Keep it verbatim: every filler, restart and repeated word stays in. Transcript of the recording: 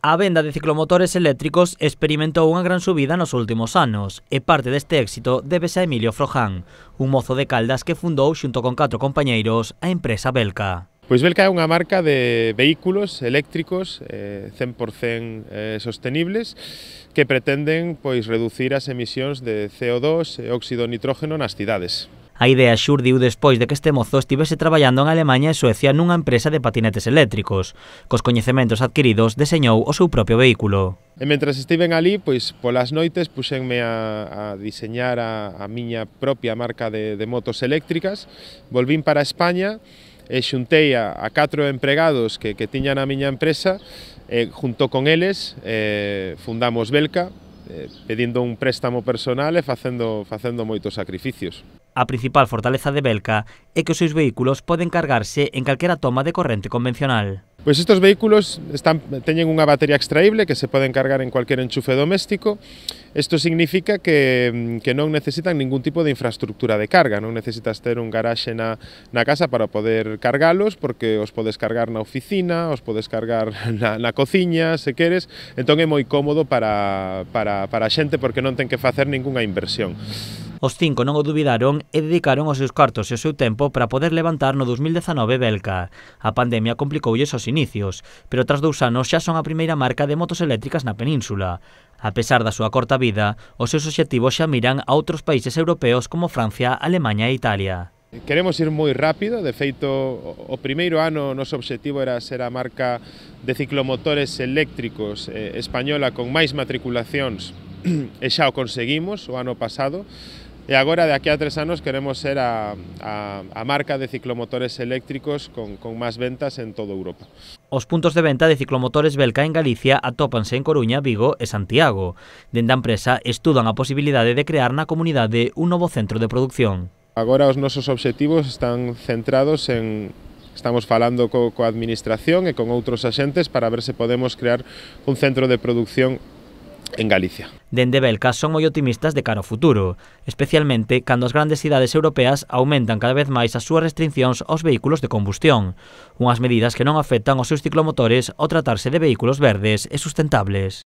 A venda de ciclomotores eléctricos experimentou unha gran subida nos últimos anos e parte deste éxito débese a Emilio Froján, un mozo de Caldas que fundou xunto con catro compañeiros a empresa Belka. Pois Belka é unha marca de vehículos eléctricos eh, cen por cen eh, sostenibles que pretenden pois reducir as emisións de C O dos e óxido nitrógeno nas cidades. A idea xurdiu despois de que este mozo estivese traballando en Alemaña e Suecia nunha empresa de patinetes eléctricos. Cos coñecementos adquiridos deseñou o seu propio vehículo. E mentras estiven ali, pois polas noites puxenme a, a diseñar a, a miña propia marca de, de motos eléctricas, volvín para España e xuntei a, a catro empregados que, que tiñan a miña empresa e junto con eles eh, fundamos Belka, eh, pedindo un préstamo personal e facendo, facendo moitos sacrificios. A principal fortaleza de Belka é que os seus vehículos poden cargarse en calquera toma de corrente convencional. Pois estes vehículos están, teñen unha batería extraíble que se poden cargar en cualquier enchufe doméstico. Isto significa que, que non necesitan ningún tipo de infraestructura de carga, non necesitas ter un garaxe na, na casa para poder cargalos, porque os podes cargar na oficina, os podes cargar na, na cociña, se queres, entón é moi cómodo para, para, para a xente porque non ten que facer ningunha inversión. Os cinco non o dubidaron e dedicaron os seus cartos e o seu tempo para poder levantar no dos mil dezanove Belka. A pandemia complicoulles os inicios, pero tras dous anos xa son a primeira marca de motos eléctricas na península. A pesar da súa corta vida, os seus obxectivos xa miran a outros países europeos como Francia, Alemaña e Italia. Queremos ir moi rápido, de feito o primeiro ano o noso obxectivo era ser a marca de ciclomotores eléctricos eh, española con máis matriculacións e xa o conseguimos o ano pasado. E agora, de aquí a tres anos, queremos ser a, a, a marca de ciclomotores eléctricos con, con máis ventas en toda Europa. Os puntos de venta de ciclomotores Belka en Galicia atópanse en Coruña, Vigo e Santiago. Dende a empresa estudan a posibilidade de crear na comunidade un novo centro de produción. Agora os nosos obxectivos están centrados en... Estamos falando co, coa administración e con outros axentes para ver se podemos crear un centro de produción en Galicia. Dende Belka son moi optimistas de cara ao futuro, especialmente cando as grandes cidades europeas aumentan cada vez máis as súas restriccións aos vehículos de combustión, unhas medidas que non afectan os seus ciclomotores ao tratarse de vehículos verdes e sustentables.